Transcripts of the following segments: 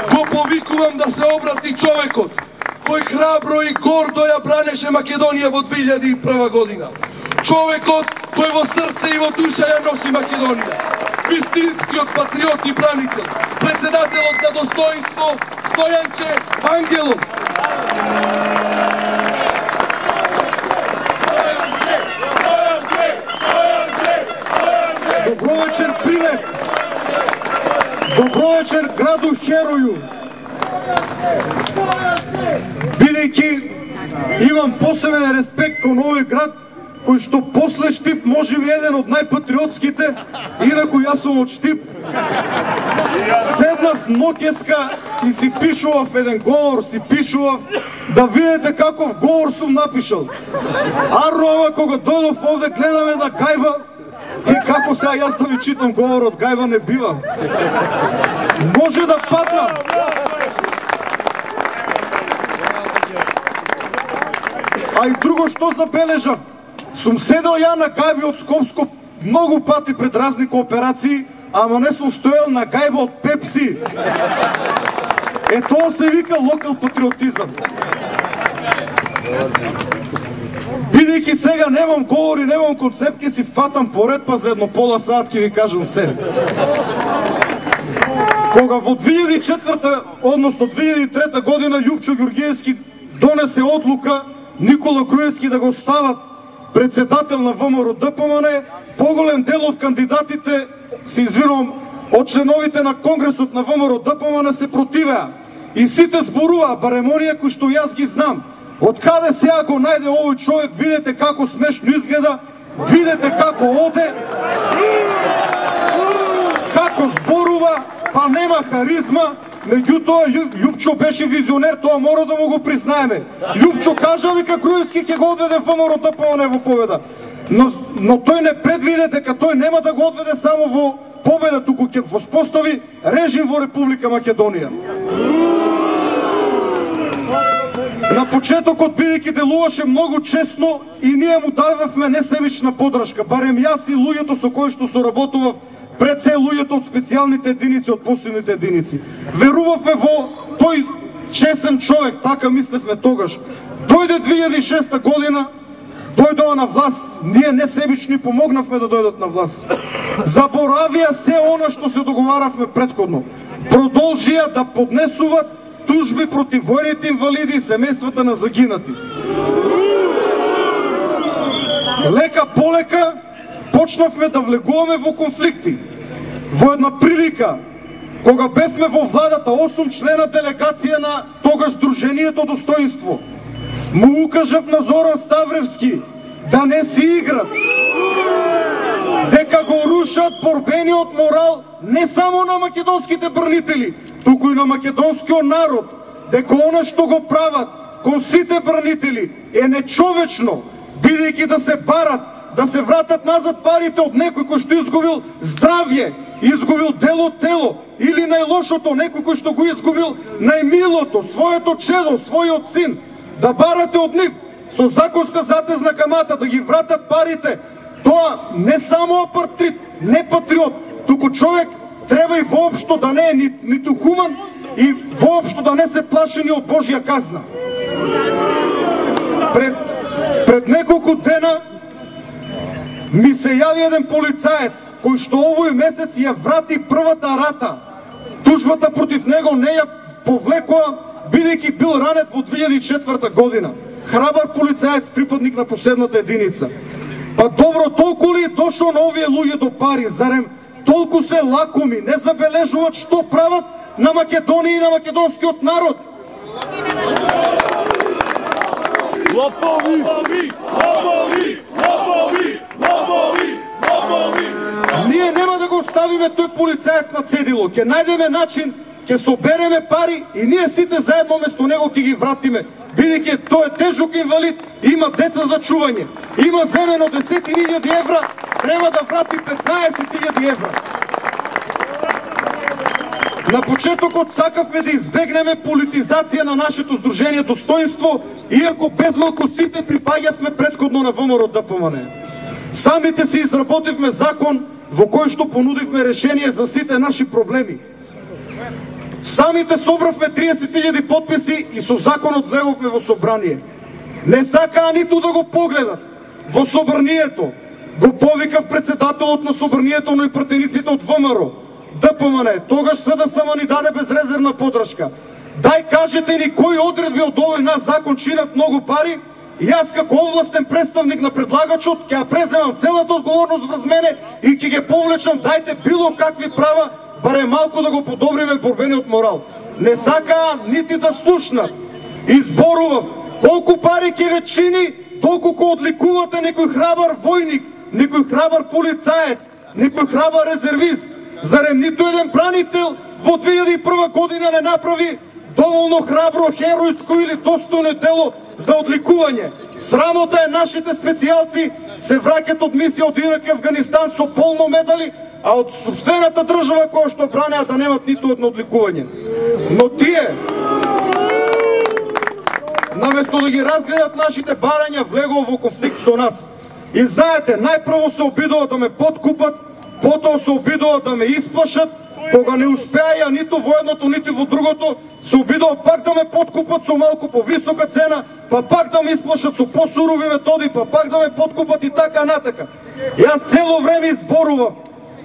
го повикувам да се обрати човекот кој храбро и гордо ја бранеше Македонија во 2001 година. Човекот кој во срце и во душа ја носи Македонија. Вистинскиот патриот и бранител, председателот на достоинство Стојанче Ангелов. Добро вечер, Прилеп! Добро вечер, граду Хероју! Бидејќи имам посебен респект кон овој град, кој што после Штип може би еден од најпатриотските, инаку јас сум од Штип. Седнав ноќеска и си пишував еден говор, да видите каков говор сум напишал. Арно, ама кога дојдов овде гледам една гајба, и како сега јас да ви читам говор од гајба не бивам. Може да паднам. А и друго што забележав, сум седел ја на гајби од Скопско многу пати пред разни кооперации, ама не сум стоел на гајба од Пепси. Е, тоа се вика локал патриотизам. Бидејќи сега немам говори, немам концепт, ќе си фатам поред, па за едно пола сат ќе ви кажам се. Кога во 2004, односно 2003 година Љупчо Ѓорѓиевски донесе одлука Никола Груевски да го стават председател на ВМРО-ДПМН, поголем дел од кандидатите, се извинувам, од членовите на Конгресот на ВМРО-ДПМН се противеа. И сите зборуваа, барем оние кои што јас ги знам. Од каде сега го најде овој човек, видете како смешно изгледа, видете како оде, како зборува, па нема харизма. Меѓутоа, Љупчо беше визионер, тоа мора да му го признаеме. Љупчо кажа дека Груевски ќе го одведе ВМРО-ДПМН во победа. Но тој не предвиде дека тој нема да го одведе само во победа, туку ќе воспостави режим во Република Македонија. На почетокот, бидејќи делуваше многу честно, и ние му дадевме несебична подршка, барем јас и луѓето со кои што соработував, пред се луѓето од специјалните единици, од посебните единици. Верувавме во тој чесен човек, така мислевме тогаш. Дојде 2006 година, дојдоа на власт, ние несебични помогнавме да дојдат на власт. Заборавија се она што се договаравме предходно. Продолжија да поднесуваат тужби против војните инвалиди и семејствата на загинати. Лека полека почнавме да влегуваме во конфликти. Во една прилика, кога бевме во владата 8 члена делегација на тогаш Сдруженијето Достоинство, му укажав на Зоран Ставревски да не си играт, дека го рушат борбениот морал не само на македонските бранители, туку и на македонскиот народ, дека она што го прават кон сите бранители е нечовечно, бидејќи да се барат, да се вратат назад парите од некој кој што изгубил здравје, изгубил дело тело, или најлошото, некој кој што го изгубил најмилото, своето чедо, својот син, да барате од нив со законска затезна камата, да ги вратат парите. Тоа не само апартрит, не патриот, туку човек треба и воопшто да не е ниту хуман и воопшто да не се плаши ни од Божја казна. Пред неколку дена ми се јави еден полицаец кој што овој месец ја врати првата рата. Тужбата против него не ја повлекоа, бидејќи бил ранет во 2004 година. Храбар полицаец, припадник на последната единица. Па добро, толку ли дошо на овие луѓе до пари? Зарем толку се лакоми, не забележуваат што прават на Македонија и на македонскиот народ? Лопови! Лопови! Лопови! Лопови! Лопови! Лопови! Ние нема да го оставиме тој полицаец на цедило. Ќе најдеме начин, ќе собереме пари и ние сите заедно место него ќе ги вратиме. Бидејќи тој е тежок инвалид, има деца за чување, има земено 10.000 евра, треба да врати 15.000 евра. На почетокот сакавме да избегнеме политизација на нашето Сдружение Достоинство, иако безмалку сите припаѓавме претходно на ВМРО-ДПМН. Самите си изработивме закон во кој што понудивме решение за сите наши проблеми. Самите собравме 30.000 подписи и со законот влеговме во собрание. Не сакаа ниту да го погледат. Во собранието го повикав председателот на собранието, но и пратениците од ВМРО, ДПМН. Тогаш СДСМ ни даде безрезервна подршка. Дај кажете ни кои одредби од овој наш закон чинат многу пари, и јас како овластен представник на предлагачот ќе ја преземам целата одговорност врз мене и ќе ги повлечам, дајте било какви права, барем малку да го подобриме борбениот морал. Не сакаа нити да слушнат. Изборував колку пари ќе ве чини, толку одликувате некој храбар војник, некој храбар полицаец, некој храбар резервист. Зарем ниту еден бранител во 2001 година не направи доволно храбро, херојско или достојно дело за одликување? Срамота е нашите специјалци се враќат од мисија од Ирак и Афганистан со полно медали, а од собствената држава која што бранеа да немат ниту едно одликување. Но тие, наместо да ги разгледат нашите барања, влегува во конфликт со нас. И знаете, најпрво се обидува да ме подкупат, потоа се обидува да ме исплашат, кога не успеа ниту во едното, ниту во другото, се обидува пак да ме подкупат со малку повисока цена, па пак да ме исплашат со посурови методи, па пак да ме подкупат и така натака. Јас цело време изборував.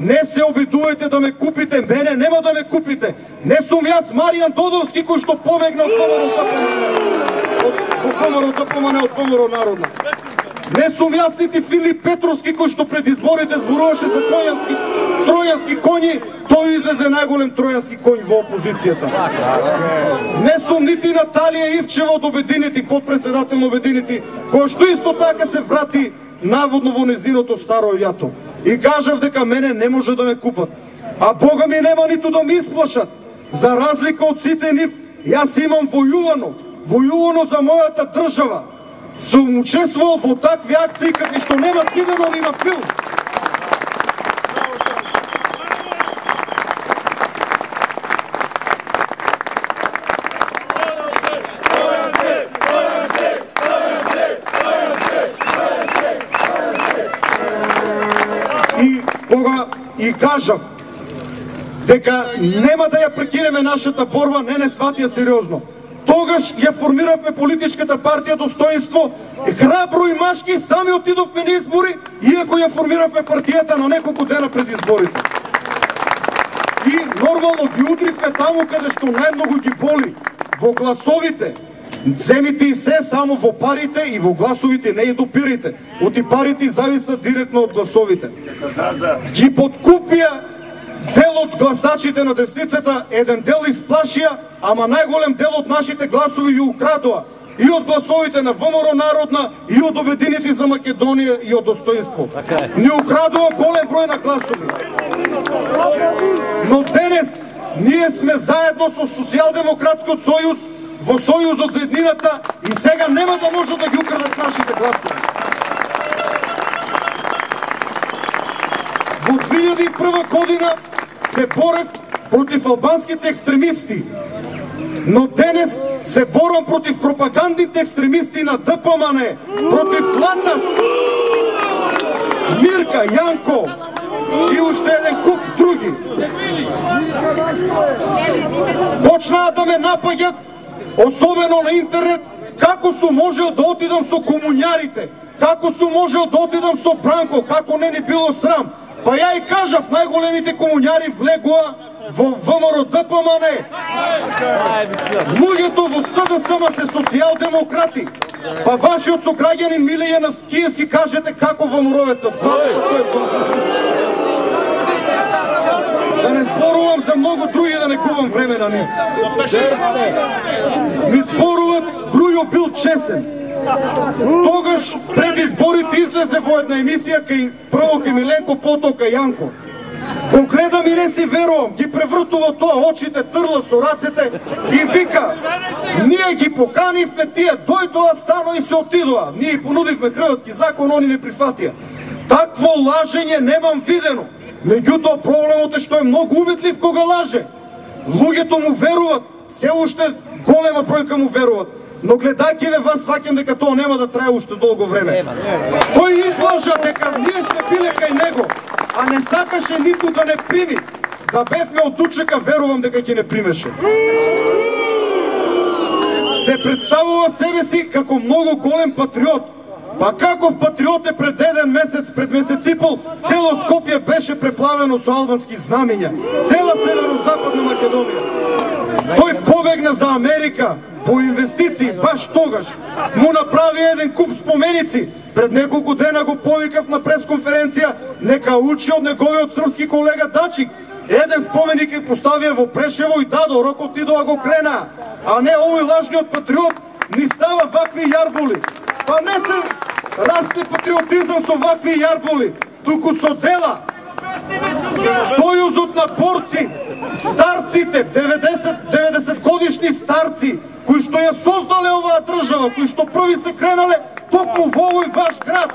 Не се обидувајте да ме купите, мене нема да ме купите. Не сум јас Маријан Додовски кој што побегна од ВМРО Народна. Не сум јас нити Филип Петровски кој што пред изборите зборуваше за тројански коњи, тој излезе најголем тројански коњ во опозицијата. Не сум нити Наталија Ивчева од Обединети, подпредседател на Обединети, кој што исто така се врати наводно во незиното старо јато. И кажав дека мене не може да ме купат. А Бога ми нема ниту да ме исплашат. За разлика од сите нив, јас имам војувано за мојата држава. Сум учествувал во такви акции какви што немат видено ни на филм. И кажав дека нема да ја прекинеме нашата борба, не сватија сериозно. Тогаш ја формиравме политичката партија Достоинство, храбро и машки сами отидовме на избори, иако ја формиравме партијата на неколку дена пред изборите. И нормално ги удривме таму каде што најмногу ги боли, во гласовите. Земите и се само во парите и во гласовите, не и допирите. Оти парите зависат директно од гласовите. Ги подкупија дел од гласачите на десницата, еден дел исплашија, ама најголем дел од нашите гласови ја украдоа. И од гласовите на ВМРО Народна, и од Обединети за Македонија, и од Достоинство. Ни украдоа голем број на гласови. Но денес ние сме заедно со Социјалдемократскиот сојуз, во Сојузот за еднината, и сега нема да може да ги украдат нашите гласови. Во 2001 година се борев против албанските екстремисти, но денес се борам против пропагандните екстремисти на ДПМН, против Латас, Мирка, Јанко и уште еден куп други. Почнаа да ме напаѓат, особено на интернет, како сум можел да отидам со комуњарите, како сум можел да отидам со Бранко, како не ни било срам. Па ја и кажав, најголемите комуњари влегуа во ВМРО ДПМН. Луѓето во СДСМ се социјалдемократи. Па вашиот сограѓанин Милијан Киевски кажете како ВМРО-вецот. Да не зборувам за многу други, да не губам време на нив. Ми зборуват Грујо бил чесен. Тогаш пред изборите излезе во една емисија прво кај Миленко, потоа кај Јанко. Го гледам и не си верувам, ги превртува тоа, очите трла со рацете и вика: ние ги поканивме тие, дојдоа, стано и се отидоа. Ние понудивме хрватски закон, они не прифатија. Такво лажење немам видено. Меѓутоа проблемот е што е многу уветлив кога лаже. Луѓето му веруват, се уште голема бројка му веруват. Но гледајќи ве вас, сваќам дека тоа нема да трае уште долго време. Тој излажа дека ние сме биле кај него, а не сакаше ниту да не прими да бевме од Дучека, верувам дека ќе не примеше. Се представува себе си како многу голем патриот. Па каков патриот е пред еден месец, пред месец и пол, цело Скопје беше преплавено со албански знамиња. Цела северозападна Македонија. Тој побегна за Америка по инвестиции, баш тогаш. Му направи еден куп споменици. Пред неколку дена го повикав на пресконференција, нека учи од неговиот српски колега Дачик. Еден споменик ја поставија во Прешево и дадо, рокот идоа го крена. А не овој лажниот патриот ни става вакви јарболи. Па не се расте патриотизам со вакви јарболи, туку со дела. Сојузот на борци, старците, 90 годишни старци, кои што ја создале оваа држава, кои што први се кренале токму во овој ваш град,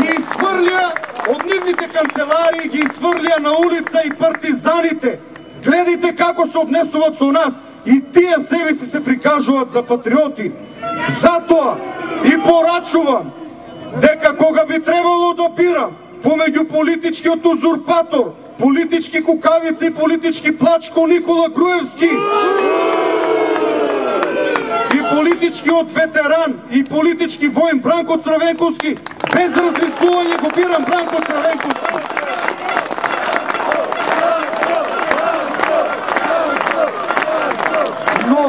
ги изфрлија од нивните канцеларии, ги изфрлија на улица и партизаните. Гледайте како се однесуваат со нас и тие себе си се прикажуваат за патриоти. Затоа и порачувам дека кога би требало да бирам помеѓу политичкиот узурпатор, политички кукавици и политички плачко Никола Груевски и политичкиот ветеран и политички воин Бранко Црвенковски, без размислување го бирам Бранко Црвенковски. Но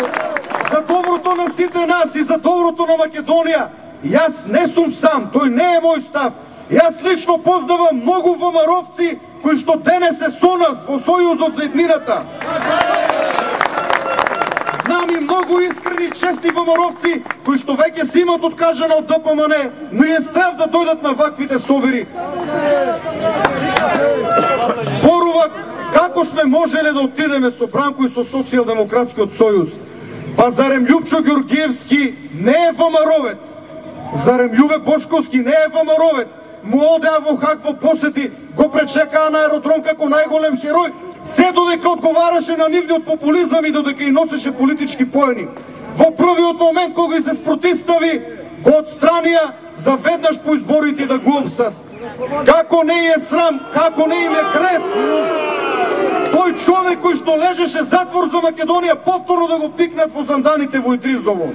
за доброто на сите нас и за доброто на Македонија, јас не сум сам, тој не е мој став. Јас лично познавам многу ВМРО-вци кои што денес се со нас во Сојузот за еднината. Знам и многу искрени честни ВМРО-вци кои што веќе се имат откажано од ДПМН, но е страв да дојдат на ваквите собери. Зборуваат како сме можеле да отидеме со Бранко и со Социјалдемократскиот сојуз. Па зарем Љупчо Ѓоргиевски не е ВМРО-вец? Зарем Љубе Бошковски не е ВМРО-вец? Му одеа во Хаг во посети, го пречекаа на аеродром како најголем херој, се додека одговараше на нивниот популизам и додека и носеше политички поени. Во првиот момент кога се спротистави, го отстранија за веднаш по изборите да го опсат. Како не е срам, како не им е греф, тој човек кој што лежеше затвор за Македонија повторно да го пикнат во занданите во Идризово.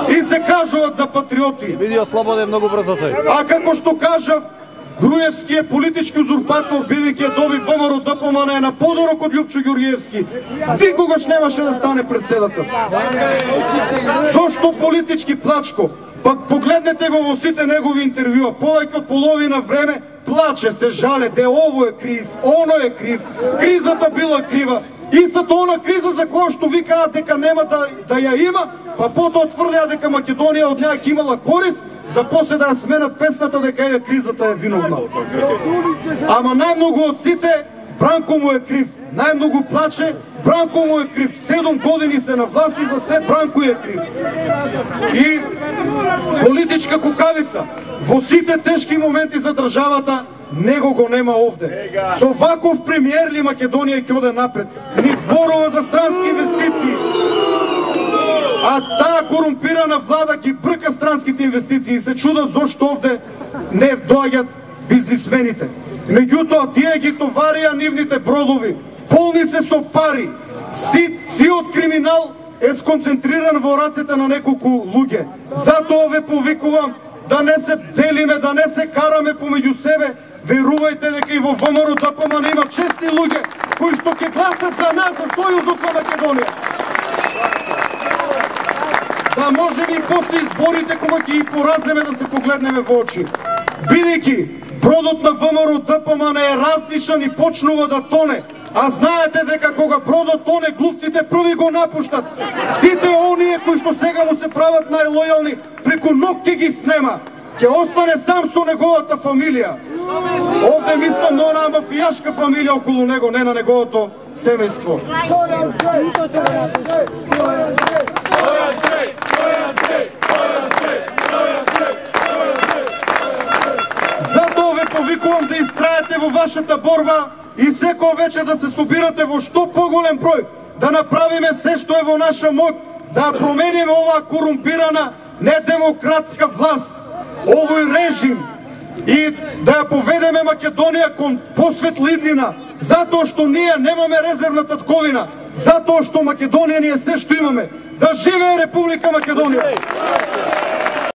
И се кажуваат за патриоти. Биди ослободен многу брзо тој. А како што кажав, Груевски е политички узурпатор, бидејќи ја доби ВМРО ДПМН на подорок од Љупчо Ѓоргиевски. Никогаш немаше да стане председател. Зошто политички плачко? Пак погледнете го во сите негови интервјуа, повеќе од половина време плаче, се жале, де ово е крив, оно е крив, кризата била крива. Истата она криза за која што викаат дека нема да ја има, па потоа тврдеа дека Македонија од неа ќе имала корист, за после да ја сменат песната дека е кризата е виновна. Ама најмногу од сите Бранко му е крив. Најмногу плаче, Бранко му е крив. 7 години се на власт и за се Бранко е крив. И политичка кукавица во сите тешки моменти за државата него го нема овде. Со ваков премиер ли Македонија ќе оде напред? Ни зборува за странски инвестиции. А таа корумпирана влада ги брка странските инвестиции и се чудат зошто овде не доаѓат бизнисмените. Меѓутоа, тие ги товарија нивните бродови, полни се со пари. Сиот криминал е сконцентриран во рацете на неколку луѓе. Затоа ве повикувам да не се делиме, да не се караме помеѓу себе. Верувајте дека и во ВМРО ДПМН има честни луѓе кои што ќе гласат за нас, за Сојузот за Македонија. Да можеме и после изборите кога ќе ги пораземе да се погледнеме во очи. Бидејќи бродот на ВМРО ДПМН е разнишан и почнува да тоне, а знаете дека кога бродот тоне, глувците први го напуштат. Сите оние кои што сега му се прават најлојални, преку ног ќе ги снема. Ќе остане сам со неговата фамилија. Овде мислам на онаа мафијашка фамилија околу него, не на неговото семејство. Затоа ве повикувам да истраете во вашата борба и секој вечер да се собирате во што поголем број, да направиме се што е во наша моќ, да промениме оваа корумпирана недемократска власт, овој режим и да ја поведеме Македонија кон посветла иднина, затоа што ние немаме резервна татковина, затоа што Македонија ние се што имаме. Да живее Република Македонија!